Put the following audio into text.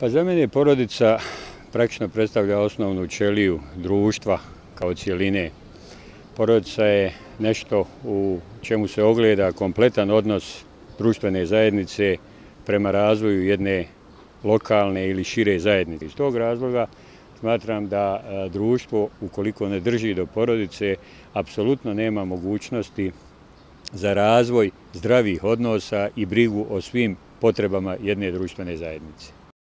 Pa za mene porodica praktično predstavlja osnovnu ćeliju društva kao cjeline. Porodica je nešto u čemu se ogleda kompletan odnos društvene zajednice prema razvoju jedne lokalne ili šire zajednice. Iz tog razloga smatram da društvo, ukoliko ne drži do porodice, apsolutno nema mogućnosti za razvoj zdravih odnosa i brigu o svim potrebama jedne društvene zajednice.